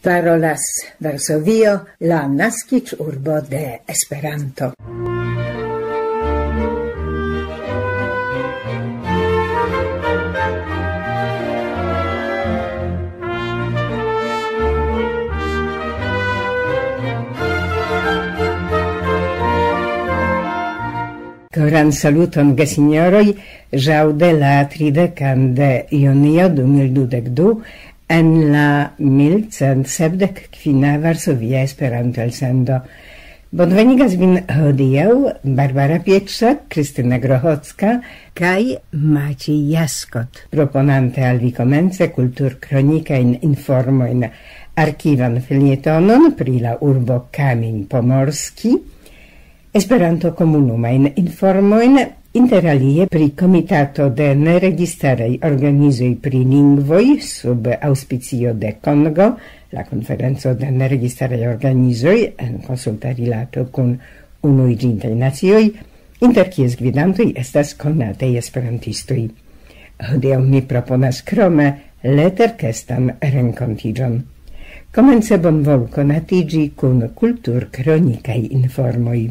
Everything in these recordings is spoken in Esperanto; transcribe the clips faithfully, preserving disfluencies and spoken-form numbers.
Parolas Varsovio, la naskiĝurbo de Esperanto. Koran saluton, gesinjoroj, ĵaŭ de la tridekan de junio du mil dudek du, en la mil cent sepdek kvina Varsovia Esperanto-elsendo. Bonvenigas vin hodiaŭ Barbara Pietrzak, Kristina Grochocka kaj Maciej Jaskot, proponante al vi komence kulturkronikajn informojn, arkivan felietonon pri la urbo Kamień Pomorski, Esperanto-komunumajn informojn, inter alie pri Komitato de Neregistaraj Organizoj pri Lingvoj sub aŭspicio de Kongo, la Konferenco de Neregistaraj Organizoj en konsulta rilato kun Unuiĝintaj Nacioj, inter kies gvidantoj estas konataj esperantistoj. Hodiaŭ mi proponas krome leterkestan renkontiĝon. Komence bonvolu konatiĝi kun kulturkronikaj informoj.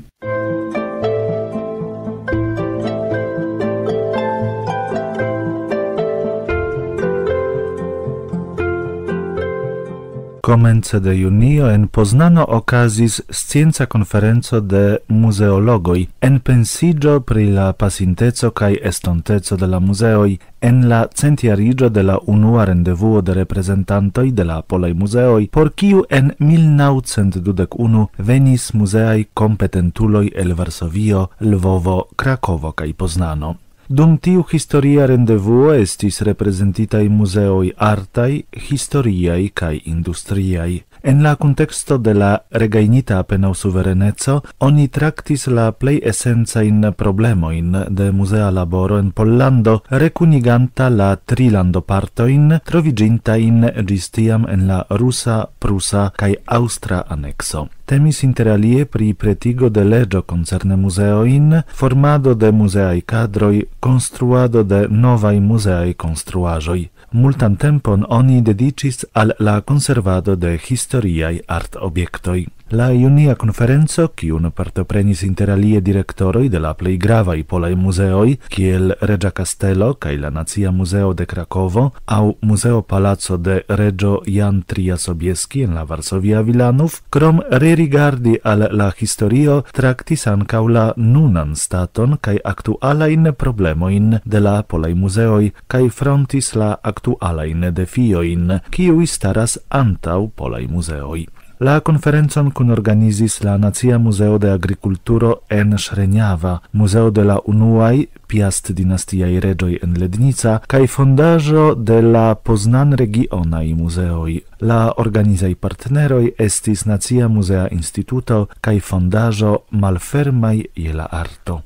Komence de junio en Poznano okazis scienca konferenco de muzeologoj, enpensiĝo pri la pasinteco kaj estonteco de la muzeoj en la centjariĝo de la unua rendevuo de reprezentantoj de la polaj muzeoj, por kiu en mil naŭcent dudek unu venis muzeaj kompetentuloj el Varsovio, Lvovo, Krakovo kaj Poznano. Dum tiu historia rendevuo estis reprezentitaj muzeoj artaj, historiaj kaj industriaj. En la kunteksto de la regajnita apenaŭ suvereneco, oni traktis la plej esencajn problemojn de muzea laboro en Pollando, rekuniganta la tri landopartojn troviĝintajn ĝis tiam en la rusa, prusa kaj aŭstra anekso. Temis inter alie pri pretigo de leĝo koncerne muzeojn, formado de muzeaj kadroj, konstruado de novaj muzeaj konstruaĵoj. Multan tempon oni dediĉis al la konservado de historiaj artobjektoj. La junia konferenco, kiun partoprenis inter alie direktoroj de la plej gravaj polaj muzeoj, kiel Reĝa Kastelo kaj la Nacia Muzeo de Krakovo aŭ Muzeo Palaco de Reĝo Jan tria Sobieski en la Varsovia Wilanów, krom rerigardi al la historio, traktis ankaŭ la nunan staton kaj aktualajn problemojn de la polaj muzeoj kaj frontis la aktualajn defiojn, kiuj staras antaŭ polaj muzeoj. La konferencon kunorganizis la Nacia Muzeo de Agrikulturo en Ŝrenjava, muzeo de la unuaj Piast-dinastiaj reĝoj en Lednica kaj fondaĵo de la Poznan-regionaj muzeoj. La organizaj partneroj estis Nacia Muzea Instituto kaj fondaĵo Malfermaj je la Arto.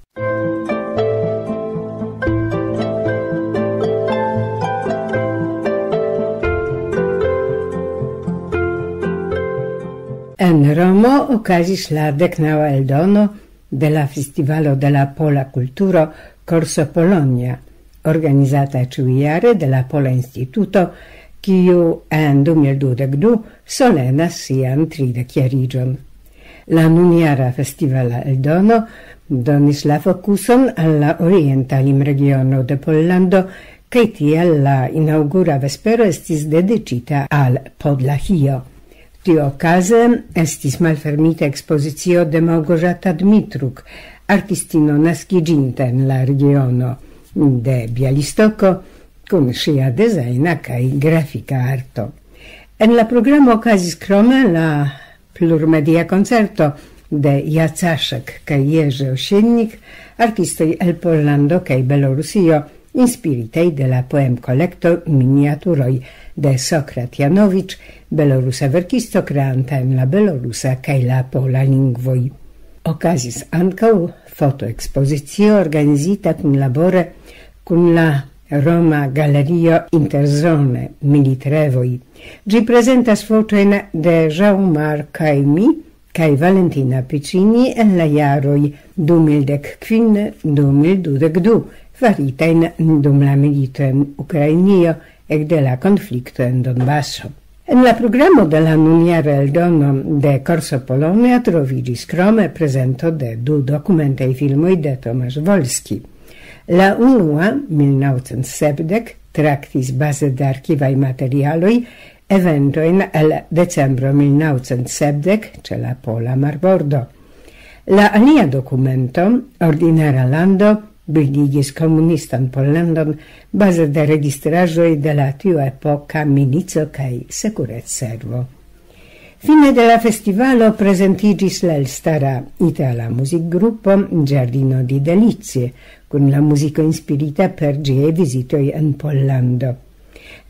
En Romo okazis la deknaŭa eldono de la Festivalo de la Pola Kulturo Corso Polonia, organizata ĉiujare de la Pola Instituto, kiu en du mil dudek du solenas sian tridekjariĝon. La nunjara festivala eldono donis la fokuson al la orienta limregiono de Pollando, kaj tial la inaŭgura vespero estis dediĉita al Podlahio. Tiuokaze estis malfermita ekspozicio de Małgorzata Dmitruk, artistino naskiĝinta en la regiono de Bialystoko, kun ŝia dezajna kaj grafika arto. En la programo okazis krome la plurmedia koncerto de Jacaszek kaj Jerzy Osiennik, artistoj el Pollando kaj Belorusio, inspiritaj de la poemkolekto Miniaturoj de Sokrat Janowicz, belorusa verkisto kreanta en la belorusa kaj la pola lingvoj. Okazis ankaŭ fotoekspozicio organizita kunlabore kun la Roma Galerio Interzone Militrevoj. Ĝi prezentas fotojn de Jean-Marc Caimi kaj Valentina Piccini en la jaroj du mil dek kvin, du mil dudek du, faritajn dum la milito en Ukrainio ekde la konflikto en Donbaso. En la programo de la nunjara eldono de Corso Polonia troviĝis krome prezento de du dokumentaj filmoj de Tomasz Wolski. La unua, mil naŭcent sepdek, traktis baze de arkivaj materialoj eventojn el decembro mil naŭcent sepdek ĉe la pola marbordo. La alia dokumento, Ordinara lando, bildigis komunistan Pollandon baze de registraĵoj de la tiuepoka milico kaj sekurecservo. Fine de la festivalo prezentiĝis la elstara itala muzikgrupo Giardino di Delizie, kun la muziko inspirita per ĝiaj vizitoj en Pollando.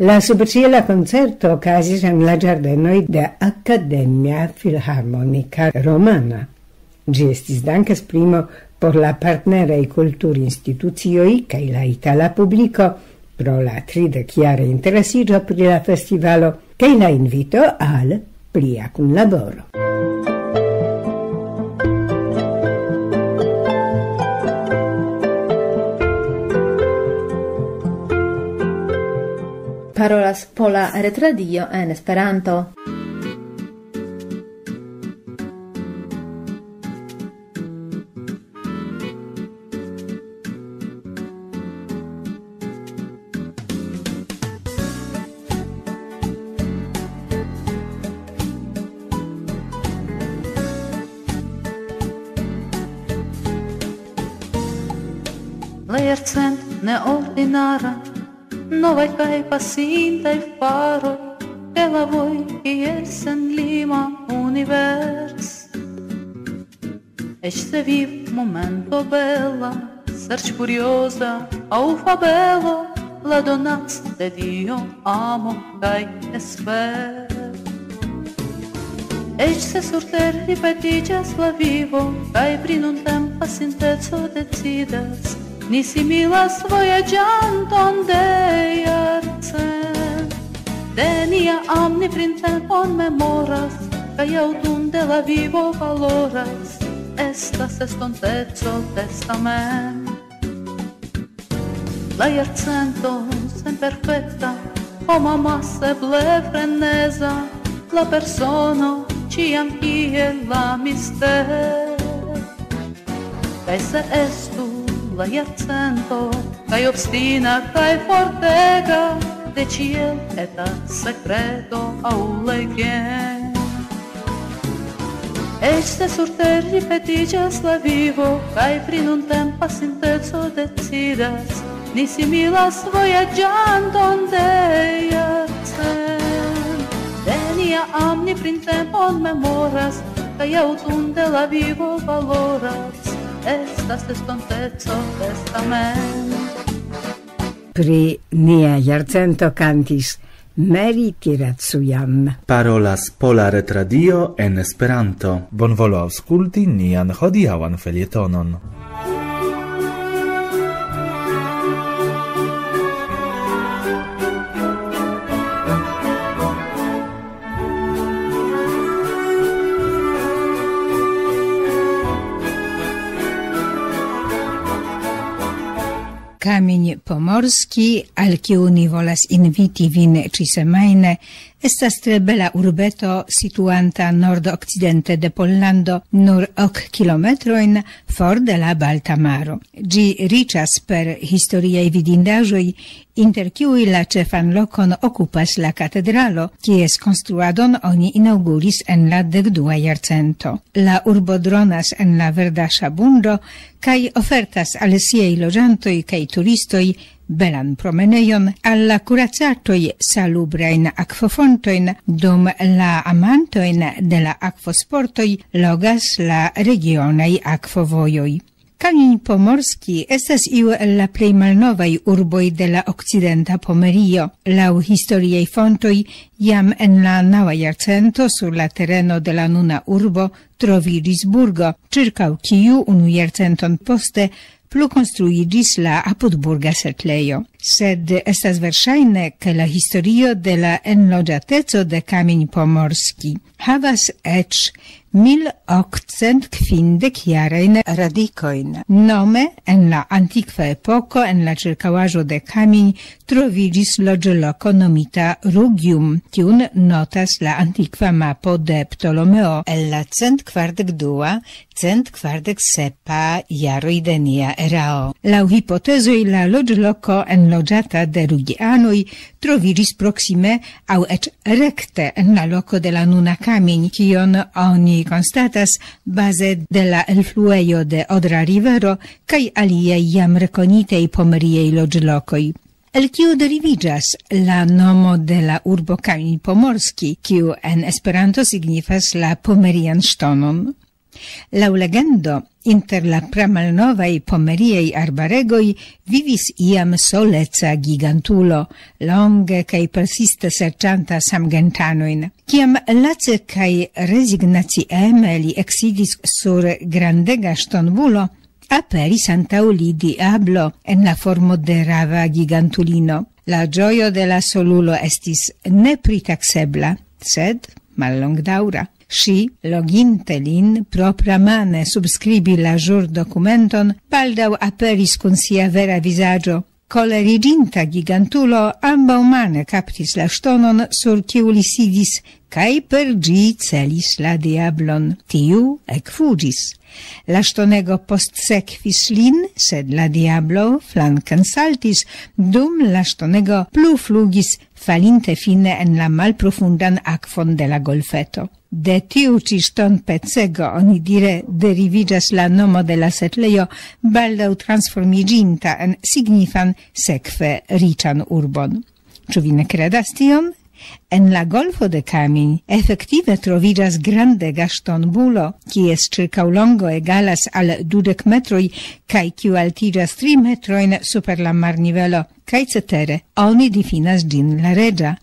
La subĉiela koncerto okazis en la ĝardenoj de Akademia Filharmonika Romana. Ĝi estis dankesprimo por la partneraj kulturinstitucioj kaj la itala publiko pro la tridek-jara interesiĝo pri la festivalo kaj la invito al plia kunlaboro. Parolas Pola Retradio en Esperanto. La jarcent neordinara, novaj kaj pasintaj faroj, ke la voi kiel senlima univers. Eĉ se viv momento bela, serĉ kurioza aŭ fabelo, la donas de Dio amo kaj esper. Eĉ se sur ter ripetiĝas la vivo, kaj pri nuntempa sinteco decidas, ni similas vojaĝanton de jarcent. De nia am ni printempon memoras, kaj aŭtun de la vivo valoras, estas estonteco testament. La jarcento senperfekta, homa maseble freneza, la persono ĉiam kiel la mistero. Kaj se estu la jarcento, kaj obstina, kaj fortega, de ĉiel eta sekreto aŭ legendo. Eĉ se sur ter ripetiĝas la vivo, kaj pri nuntempa sinteco decidas, ni similas vojaĝanton de jarcent. De nia am ni printempon memoras, kaj aŭtun de la vivo valoras, estas estonteco testament. Pri nia jarcento kantis Mary Tiracujan. Parolas Pola Retradio en Esperanto. Bonvolu aŭskulti nian hodiaŭan felietonon. Kamień Pomorski, al kiu ni volas inviti vin ĉisemajne, estas tre bela urbeto situanta nordokcidente de Pollando, nur ok kilometrojn for de la Balta Maro. Ĝi riĉas per historiaj vidindaĵoj, inter kiuj la ĉefan lokon okupas la katedralo, kies konstruadon oni inaŭguris en la dekdua jarcento. La urbo dronas en la verda ŝabundo kaj ofertas al siaj loĝantoj kaj turistoj belan promenejon, al la kuracaĵoj salubrajn akvofontojn, dum la amantojn de la akvosportoj logas la regionaj akvovojoj. Kamień Pomorski estas iu el la plej malnovaj urboj de la okcidenta Pomerio. Laŭ historiaj fontoj, jam en la naŭa jarcento sur la tereno de la nuna urbo troviĝis burgo, ĉirkaŭ kiu unu jarcenton poste plukonstruiĝis la apudburga setlejo. Sed estas verŝajne, ke la historio de la enloĝateco de Kamień Pomorski havas eĉ mil okcent kvindek jarajn radikojn. Nome, en la antikva epoko, en la ĉirkaŭaĵo de Kamień troviĝis loĝloko nomita Rugium, kiun notas la antikva mapo de Ptolomeo el la cent kvardek dua, cent kvardek sepa jaroj de nia erao. Laŭ hipotezoj la loĝloko enloĝata de Rugianoj troviĝis proksime aŭ eĉ rekte en la loko de la nuna Kamień, kion oni konstatas baze de la elfluejo de Odra Rivero kaj aliaj jam rekonitaj pomeriaj loĝlokoj. El kiu deriviĝas la nomo de la urbo Kamień Pomorski, kiu en Esperanto signifas la Pomerian ŝtonon? Laŭ legendo, inter la pramalnovaj pomeriaj arbaregoj vivis iam soleca gigantulo, longe kaj persiste serĉanta samgentanojn. Kiam lace kaj rezignacieme li eksidis sur grandega ŝtonbulo, aperis antaŭ li diablo en la formo de rava gigantulino. La ĝojo de la solulo estis nepritaksebla, sed mallongdaŭra. Ŝi, loginte lin propramane subskribi la ĵurdokumenton, baldaŭ aperis kun sia vera vizaĝo. Koleriĝinta gigantulo ambaŭmane kaptis la ŝtonon, sur kiu li sidis, kaj per ĝi celis la diablon. Tiu ekfuĝis. La ŝtonego postsekvis lin, sed la diablo flanken saltis, dum la ŝtonego plu flugis, falinte fine en la malprofundan akvon de la golfeto. De tiu ĉi ŝtonpecego onidire deriviĝas la nomo de la setlejo, baldaŭ transformiĝinta en signifan, sekve riĉan urbon. Ĉu vi ne kredas tion? En la golfo de Kamień efektive troviĝas grandega ŝtonbulo, kies ĉirkaŭlongo egalas al dudek metroj kaj kiu altiĝas tri metrojn super la marnivelo, kaj cetere oni difinas ĝin la reĝa.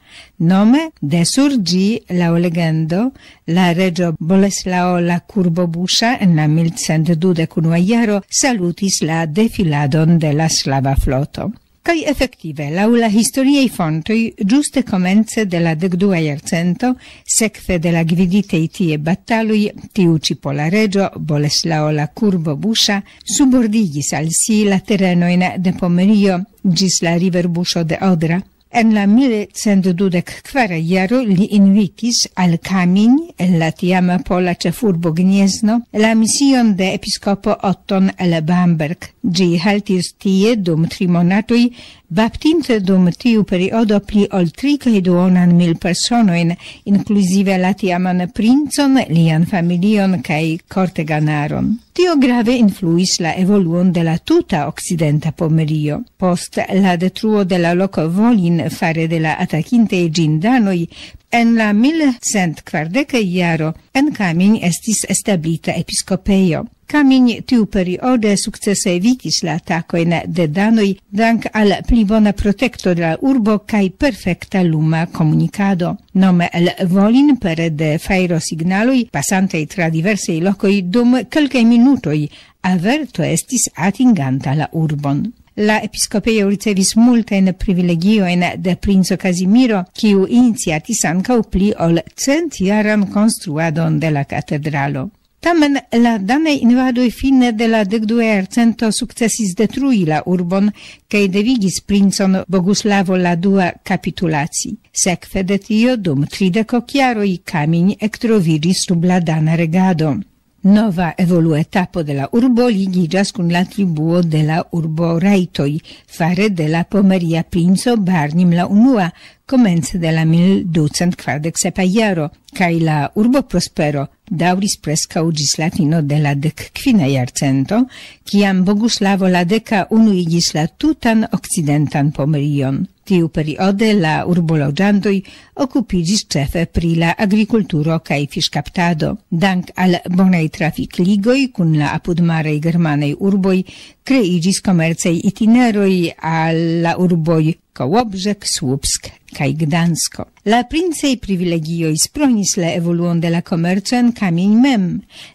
Nome, de sur ĝi, laŭ legendo, la reĝo Boleslao la Kurbobuŝa en la mil cent dudek unua jaro salutis la defiladon de la slava floto. Kaj efektive, laŭ la historiaj fontoj, ĝuste komence de la dekdua jarcento, sekve de la gviditaj tie bataloj, tiu ĉi pola reĝo, Boleslao la Kurbobuŝa, subordigis al si la terenojn de Pomerio ĝis la riverbuŝo de Odra. En la mil cent dudek kvar jaro li invitis al Kamień, el la tiama pola ĉefurbo Gniezno, la mision de episkopo Otton el Bamberg. Ĝi haltis tie dum tri monatoj, baptinte dum tiu periodo pli ol tri kaj duonan mil personojn, inkluzive la tiaman princon, lian familion kaj korteganaron. Tio grave influis la evoluon de la tuta okcidenta Pomerio. Post la detruo de la loko Volin fare de la atakintaj ĝin danoj, en la mil cent kvardeka jaro en Kamień estis establita episkopejo. Kamień tiu periode sukcese evitis la atakojn de danoj dank al pli bona protekto de la urbo kaj perfekta luma komunikado. Nome el Volin pere de fajrosignaloj, pasantaj tra diversaj lokoj dum kelkaj minutoj, averto estis atinganta la urbon. La episkopejo ricevis multajn privilegiojn de princo Kazimiro, kiu iniciatis ankaŭ pli ol centjaran konstruadon de la katedralo. Tamen la danaj invadoj fine de la dekdua jarcento sukcesis detrui la urbon kaj devigis princon Boguslavo la dua kapitulaci. Sekve de tio, dum tridek ok jaroj Kamień ektroviĝis sub la dana regado. Nova evoluetapo de la urbo ligiĝas kun la tribuo de la urbo rajtoj, fare de la pomeria princo Barnim la unua, komence de la mil ducent kvardek sepa jaro, kaj la urbo prospero daŭris preskaŭ ĝis la fino de la dekkvina jarcento, kiam Boguslavo la deka unuigis la tutan okcidentan Pomerion. Tiu periode la urboloĝantoj okupiĝis ĉefe pri la agrikulturo kaj fiŝkaptado. Dank al bonaj trafikligoj kun la apudmaraj germanaj urboj kreiĝis komercaj itineroj al la urboj Kołobrzeg, Słupsk kaj Gdansko. La princaj privilegioj spronis la evoluon de la komerco en Kamień mem.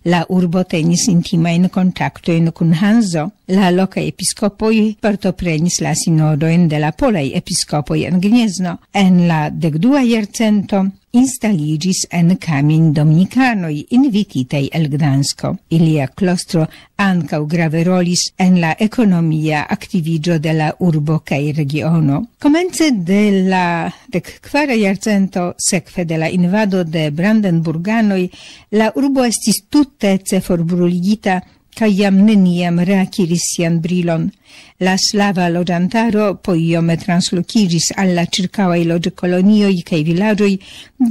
La urbo tenis intimajn kontaktojn kun Hanzo. La lokaj episkopoj partoprenis la sinodojn de la polaj episkopoj en Gniezno. En la dekdua jarcento instaliĝis en Kamień dominikanoj invititaj el Gdansko. Ilia klostro ankaŭ grave rolis en la ekonomia aktiviĝo de la urbo kaj regiono. Komence de la dek kvara jarcento, sekve de la invado de Brandenburganoj, la urbo estis tute ceforbruligita, kaj jam neniam reakiris sian brilon. La slava loĝantaro poiome translokiĝis al la ĉirkaŭaj loĝkolonioj kaj vilaĝoj,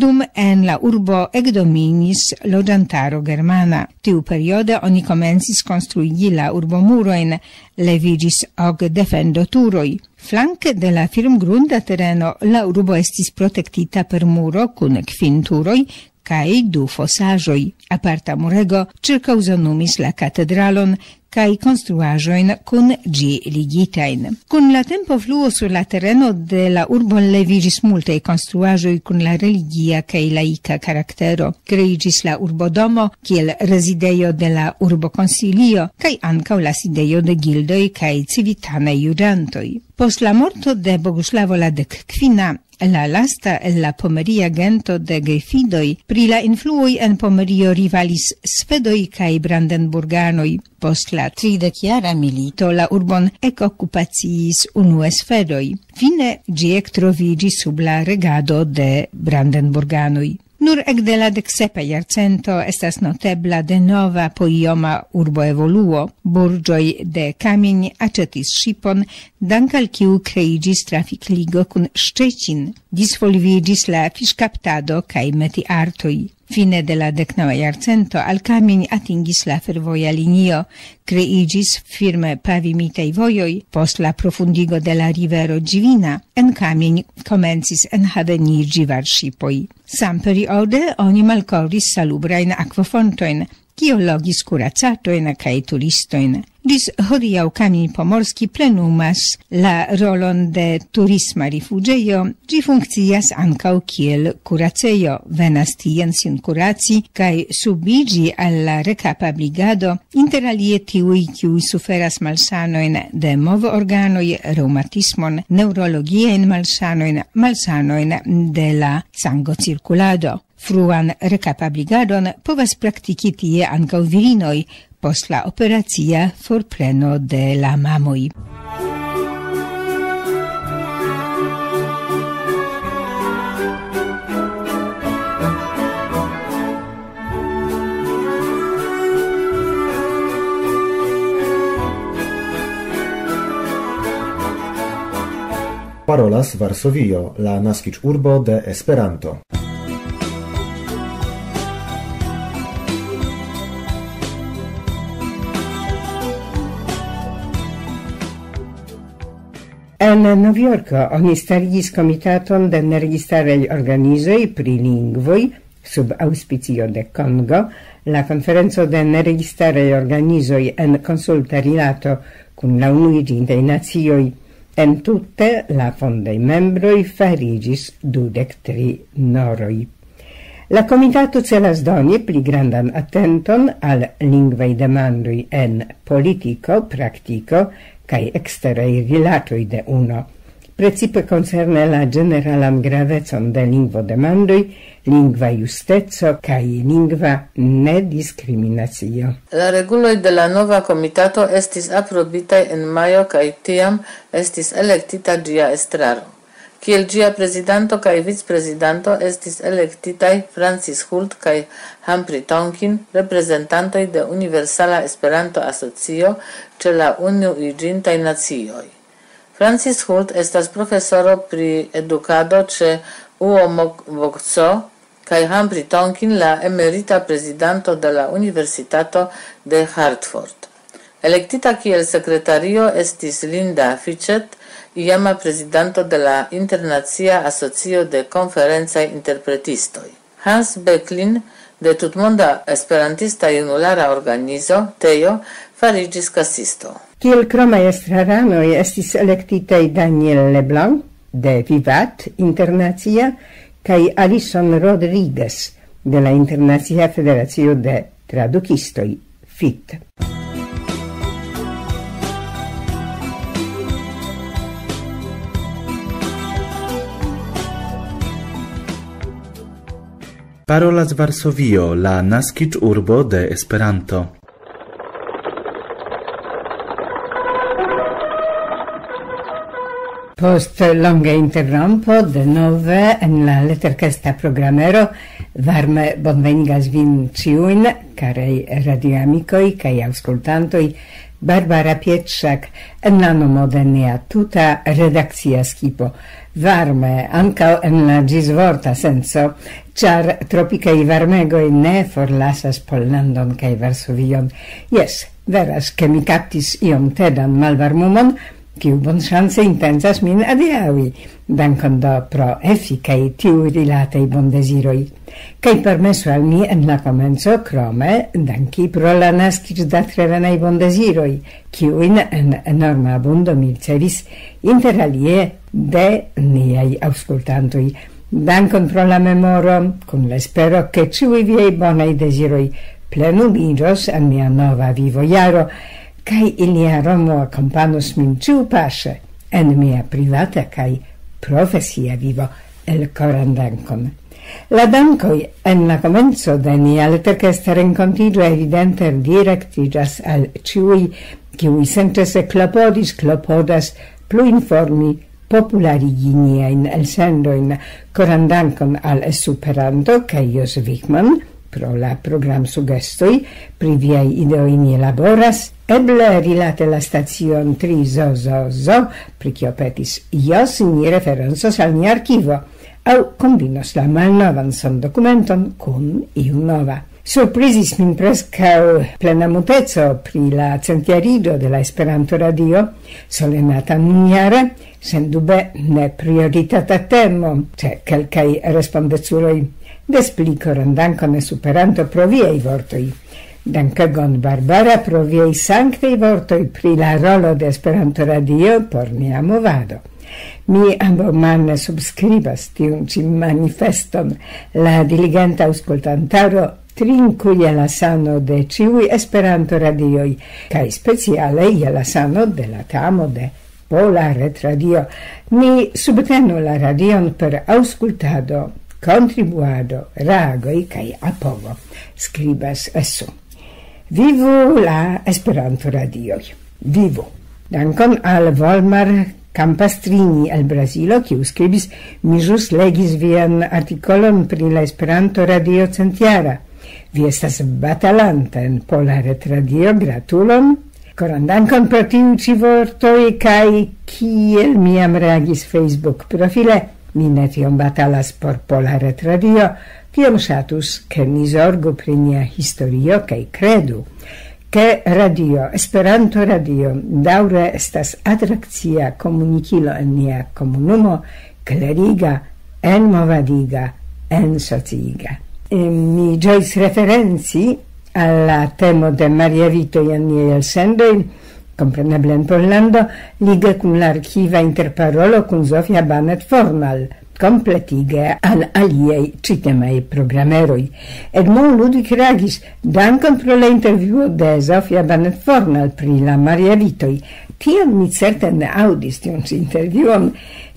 dum en la urbo ekdominis loĝantaro germana. Tiuperiode oni komencis konstruigi la urbomurojn, leviĝis ok defendoturoj. Flanke de la firmgrunda tereno la urbo estis protektita per muro kun kvin turoj kaj du fosaĵoj. Aparta murego ĉirkaŭzonumis la katedralon kaj konstruaĵojn kun ĝi ligitajn. Kun la tempo fluo sur la tereno de la urbo leviĝis multaj konstruaĵoj kun la religia kaj laika karaktero. Kreiĝis la urbodomo kiel rezidejo de la urbokonsilio kaj ankaŭ la sidejo de gildoj kaj civitanaj juĝantoj. Post la morto de Boguslavo la dek kvina, la lasta el la pomeria gento de gefidoj, pri la influoj en Pomerio rivalis svedoj kaj brandenburganoj. Post la tridekjara milito la urbon ekokupaciis unue svedoj. Fine ĝi ektroviĝis sub la regado de brandenburganoj. Nur ekde la deksepa jarcento estas notebla denova poioma urboevoluo. Burĝoj de Kamień aĉetis ŝipon, dank al kiu kreiĝis trafikligo kun Szczecin. Disvolviĝis la fiŝkaptado kaj metiartoj. Fine de la deknaŭa jarcento al Kamień atingis la fervoja linio. Kreiĝis firme pavimitaj vojoj. Post la profundigo de la rivero Ĝivina en Kamień komencis enhaveniĝi varŝipoj. Samperiode oni malkovris salubrajn akvofontojn, kio logis kuracatojn kaj turistojn. Ĝis hodiaŭ Kamień Pomorski plenumas la rolon de turisma rifuĝejo. Ĝi funkcias ankaŭ kiel kuracejo. Venas tien sin kuraci kaj subiĝi al la rekapabligado, inter alie tiuj, kiuj suferas malsanojn de movorganoj, reŭmatismon, neŭrologiajn malsanojn, malsanojn de la sangocirkulado. Fruan rekapabligadon povas praktiki tie ankaŭ virinoj post la operacia forpreno de la mamoj. Parolas Varsovio, la naskiĝurbo de Esperanto. En Novjorko oni starigis komitaton de neregistaraj organizoj pri lingvoj sub aŭspicio de Kongo, la konferenco de neregistaraj organizoj en konsulta rilato kun la Unuiĝintaj Nacioj. En tute la fondaj membroj fariĝis dudek tri noroj. La komitato celas doni pli grandan atenton al lingvaj demandoj en politiko, praktiko kaj eksteraj rilatoj de uno, precipe koncerne la ĝeneralan gravecon de lingvodemandoj, lingva justeco kaj lingva nediskriminacio. La reguloj de la nova komitato estis aprobitaj en majo kaj tiam estis elektita ĝia estraro. Kiel ĝia prezidanto kaj vicprezidanto estis elektitaj Francis Hult kaj Humphrey Tonkin, reprezentantoj de Universala Esperanto-Asocio ĉe la Unuiĝintaj Nacioj. Francis Hult estas profesoro pri edukado ĉe Uomokvokco kaj Humphrey Tonkin la emerita prezidanto de la Universitato de Hartford. Elektita kiel sekretario estis Linda Fitchett, iama prezidanto de la Internacia Asocio de Konferencaj Interpretistoj. Hans Becklin de Tutmonda Esperantista Junulara Organizo, Tejo, fariĝis kasisto. Kiel kromaj estraranoj estis elektitaj Daniel Leblanc de Vivat Internacia kaj Alison Rodriguez de la Internacia Federacio de Tradukistoj, fit. Parolas Varsovio, la naskiĝurbo de Esperanto. Post longa interrompo, denove en la leterkesta programero, varme bonvenigas vin ĉiujn, karaj radioamikoj kaj aŭskultantoj, Barbara Pietrzak en la nomo de nia tuta redakcia skipo. Varme, ankaŭ en la ĝisvorta senco, ĉar tropikaj varmegoj ne forlasas Pollandon kaj Varsovion. Jes, veras, ke mi kaptis iom tedan malvarmumon, kiu bonŝance intencas min adiaŭi. Dankon do pro efikaj tiuj rilataj bondeziroj. Kaj permesu al mi en la komenco krome danki pro la naskiĝdatrevenaj bondeziroj, kiujn en enorma abundo mi ricevis inter alie de niaj aŭskultantoj. Dankon pro la memoro, kun la espero, ke ĉiuj viaj bonaj deziroj plenumiĝos en mia nova vivojaro, kaj ilia romo akompanos min ĉiupaŝe en mia privata kaj profesia vivo. Elkoran dankon. La dankoj en la komenco de nia leterkesta renkontiĝo evidente direktiĝas al ĉiuj, kiuj senĉese klopodis, klopodas plu informi, popularigi niajn elsendojn. Koran dankon al Esperanto kaj Jos Wichmann pro la programsugestoj. Pri viaj ideoj ni laboras. Eble rilate la stacion tri zo zo zo, pri kio petis Jos, ni referencos al nia arkivo, aŭ kombinos la malnovan sondokumenton kun iu nova. Surprizis min preskaŭ plena muteco pri la centjariĝo de la Esperanto-Radio, solenata nunjare, sendube ne prioritata temo, ĉe kelkaj respondeculoj. Des pli koran dankon, Esperanto, pro viaj vortoj. Dankegon, Barbara, pro viaj sanktaj vortoj pri la rolo de Esperanto-Radio por nia movado. Mi ambaŭmane subskribas tiun ĉi manifeston. La diligenta aŭskultantaro trinku je la sano de ĉiuj Esperanto-radioj, kaj speciale je la sano de la tamo de Pola Retradio. Ni subtenu la radion per aŭskultado, kontribuado, reagoj kaj apogo, skribas Esu. Vivu la Esperanto-radioj! Vivu! Dankon al Volmar Campastrini el Brazilo, kiu skribis: "Mi ĵus legis vian artikolon pri la Esperanto-radio centjara. Vi estas batalanta en Pola Retradio, gratulon!" Koran dankon pro tiuj ĉi vortoj, kaj kiel mi jam reagis Facebook-profile, mi ne tiom batalas por Pola Retradio, tiom ŝatus, ke ni zorgu pri nia historio, kaj kredu, ke radio, Esperanto-radio, daŭre estas atrakcia komunikilo en nia komunumo, kleriga, enmovadiga, ensociiga. E mi ĝojis referenci al la temo de Maria Vitoj en niaj elsendoj, kompreneble en Pollando, lige kun la arkiva interparolo kun Zofia Banet Fornal, kompletige al aliaj ĉitemaj programeroj. Edmond Ludwig reagis: "Dankon pro la intervjuo de Zofia Banet Fornal pri la Maria Vitoj." Tion mi certe ne aŭdis, tiun ĉi intervjuon,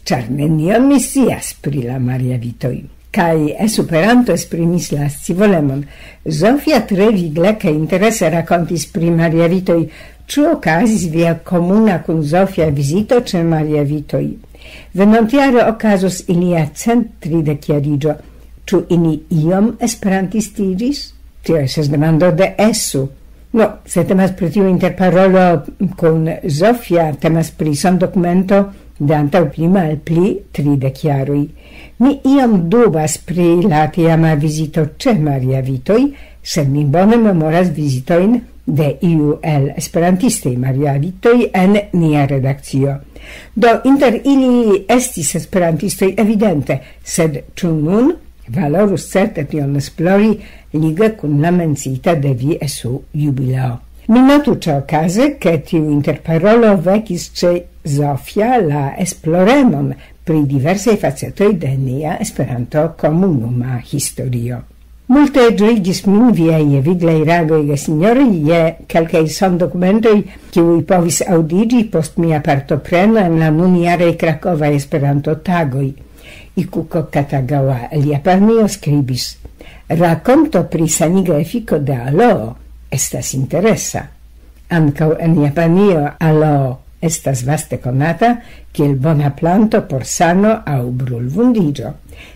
ĉar nenion mi scias pri la Maria Vitoj. Kaj Esperanto esprimis la scivolemon. Zofia tre vigle kaj interese rakontis pri Maria Vitoj. Ĉu okazis via komuna kun Zofia vizito ĉe Maria Vitoj? Venontjare okazos ilia cent tridek jariĝo. Ĉu ili iom esperantistiĝis? Tio estas demando de Esu. No, se temas pri tiu interparolo kun Zofia, temas pri sondokumento de antaŭ pli malpli tridek jaroj. Mi iom dubas pri la tiama vizito ĉe Maria Vitoj, sed mi bone memoras vizitojn de iu el esperantistaj Maria Vitoj en nia redakcio. Do inter ili estis esperantistoj evidente, sed ĉu nun? Valorus certe tion esplori lige kun la menciita de vi esu jubileo. Mi notu ĉe okaze, ke tiu interparolo vekis ĉe Zofia la esploremon pri diversaj facetoj de nia Esperanto komunuma historio. Multe ĝuigis min viaj viglaj reagoj, gesinjoroj, je kelkaj sondokumentoj, kiuj povis aŭdiĝi post mia partopreno en la nunjaraj Krakovaj Esperanto-tagoj. Ikuko Katagawa el Japanio skribis: "Rakonto pri saniga efiko de aloo estas interesa. Ankaŭ en Japanio aloo estas vaste konata kiel bona planto por sano aŭ brulvundiĝo.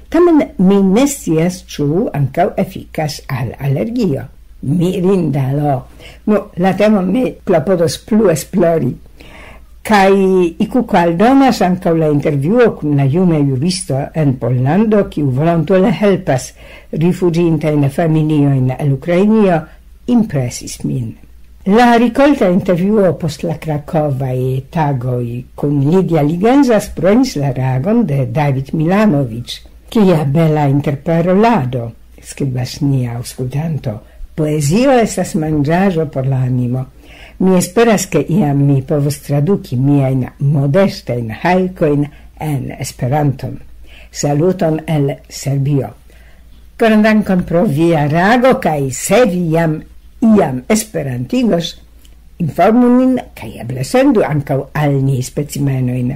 Tamen mi ne scias, ĉu ankaŭ efikas al alergio." Mirinda aloo. Nu, la temon mi klopodos plu esplori. Kaj Ikuko aldonas ankaŭ la intervjuo kun la juna juristo en Pollando, kiu volontule helpas rifuĝintajn familiojn el Ukrainio, impresis min. La rikolta intervjuo post la Krakovaj tagoj kun Lidia Ligenza spronis la reagon de David Milanovic. "Kia bela interparolado!" skribas nia aŭskultanto. "Poezio estas manĝaĵo por la animo. Mi esperas, ke iam mi povos traduki miajn modestajn hajkojn en Esperanton. Saluton el Serbio." Koran dankon pro via reago, kaj se vi jam iam esperantigos, informu nin, kaj eble sendu ankaŭ al ni specimenojn.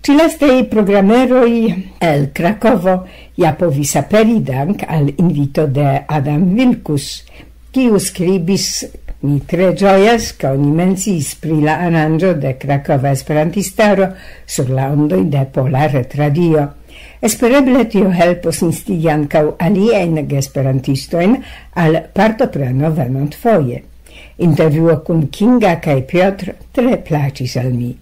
Ĉi-lastaj programeroj el Krakovo ja povis aperi dank al invito de Adam Vilkus, kiu skribis: "Mi tre ĝojas, ke oni menciis pri la aranĝo de Krakova Esperantistaro sur la ondoj de Pola Retradio. Espereble tio helpos instigi ankaŭ aliajn geesperantistojn al partopreno venontfoje. Intervjuo kun Kinga kaj Piotr tre plaĉis al mi."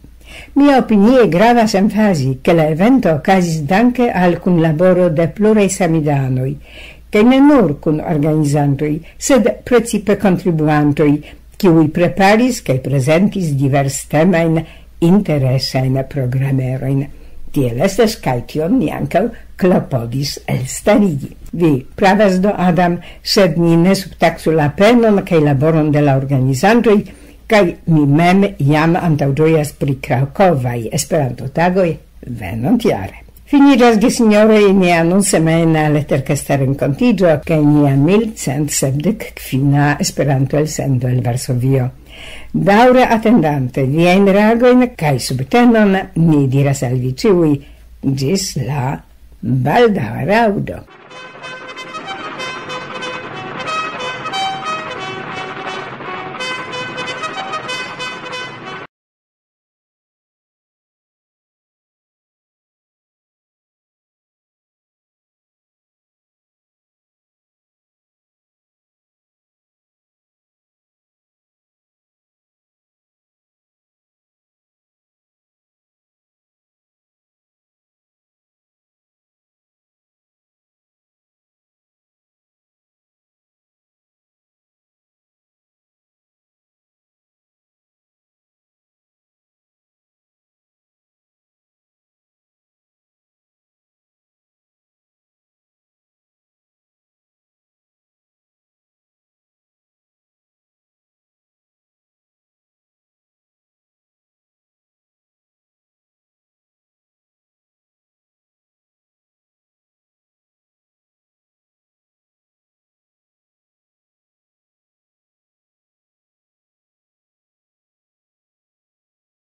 Mia opinie gravas emfazi, ke la evento okazis danke al kunlaboro de pluraj samideanoj, kaj ne nur kun organizantoj, sed precipe kontribuantoj, kiuj preparis kaj prezentis divers temajn interesajn programerojn. Tiel estas, kaj tion ni ankaŭ klopodis elstarigi. Vi pravas do, Adam, sed ni ne subtaksu la penon kaj laboron de la organizantoj, kaj mi mem jam antaŭĝojas pri Krakovaj Esperanto-tagoj venontjare. Finiĝas, gesinjoroj, nia anonsemajna leterkasta renkontiĝo kaj nia mil cent sepdek kvina Esperanto-elsendo el Varsovio. Daŭre atendante viajn reagojn kaj subtenon, ni diras al vi ĉiuj: ĝis la baldaŭa raŭdo.